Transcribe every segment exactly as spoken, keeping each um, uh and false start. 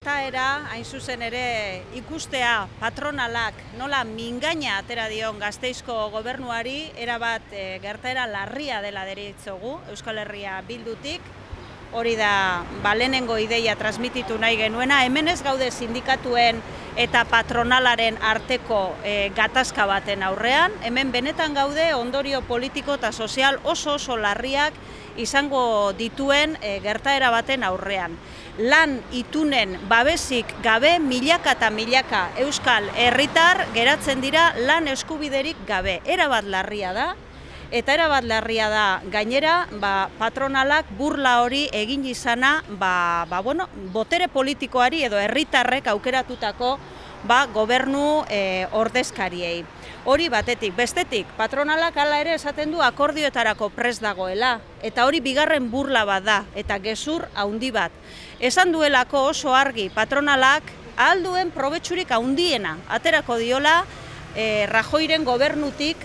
gertaera, hain zuzen ere ikustea patronalak nola mingaina atera dion Gasteizko gobernuari, erabat e, gertaera larria dela deritzogu Euskal Herria Bildutik. Hori da, ba, lehenengo ideia transmititu nahi genuena, hemen ez gaude sindikatuen eta patronalaren arteko e, gatazka baten aurrean, hemen benetan gaude ondorio politiko eta sozial oso oso larriak izango dituen e, gertaera baten aurrean. Lan itunen babesik gabe milaka eta milaka euskal herritar geratzen dira lan eskubiderik gabe. Erabat larria da. Eta erabat larria da gainera, ba, patronalak burla hori egin izana ba, ba, bueno, botere politikoari edo herritarrek aukeratutako ba, gobernu e, ordezkariei. Hori batetik, bestetik, patronalak hala ere esaten du akordioetarako prest dagoela, eta hori bigarren burla bat da, eta gezur handi bat. Esan duelako oso argi patronalak ahal duen probetxurik handiena aterako diola e, Rajoyren gobernutik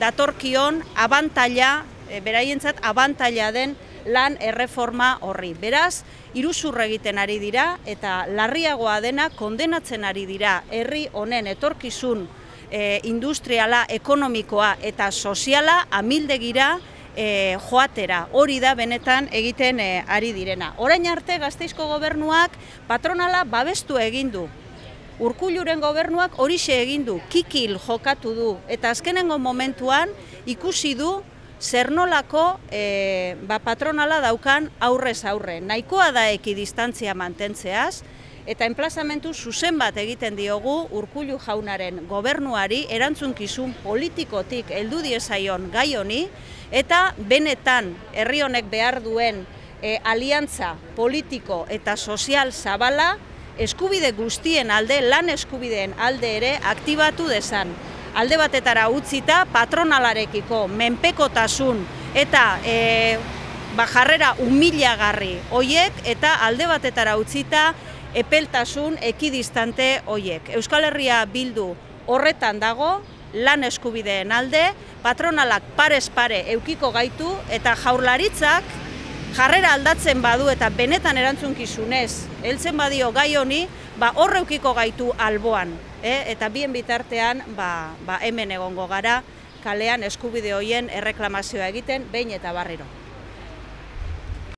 datorkion abantaila, e, beraientzat abantaila den lan erreforma horri. Beraz, iruzur egiten ari dira eta larriagoa dena kondenatzen ari dira herri honen etorkizun e, industriala, ekonomikoa eta soziala amildegira e, joatera. Hori da benetan egiten e, ari direna. Orain arte Gasteizko gobernuak patronala babestu egin du. Urkulluren gobernuak horixe egin du, kikil jokatu du, eta azkenengo momentuan ikusi du zer nolako e, ba, patronala daukan aurrez aurre. Nahikoa da ekidistantzia mantentzeaz, eta enplazamentu zuzen bat egiten diogu Urkullu jaunaren gobernuari erantzunkizun politikotik heldu diezaion gai honi, eta benetan herri honek behar duen e, aliantza politiko eta sozial zabala eskubide guztien alde, lan eskubideen alde ere aktibatu dezan. Alde batetara utzita patronalarekiko menpekotasun eta e, ba, jarrera humilagarri hoiek eta alde batetara utzita epeltasun ekidistante hoiek. Euskal Herria Bildu horretan dago, lan eskubideen alde, patronalak parez pare eukiko gaitu eta Jaurlaritzak jarrera aldatzen badu eta benetan erantzunkizunez heltzen badio gai honi, ba horreukiko gaitu alboan, eh? Eta bien bitartean ba, ba hemen egongo gara kalean eskubide hoien erreklamazioa egiten behin eta berriro.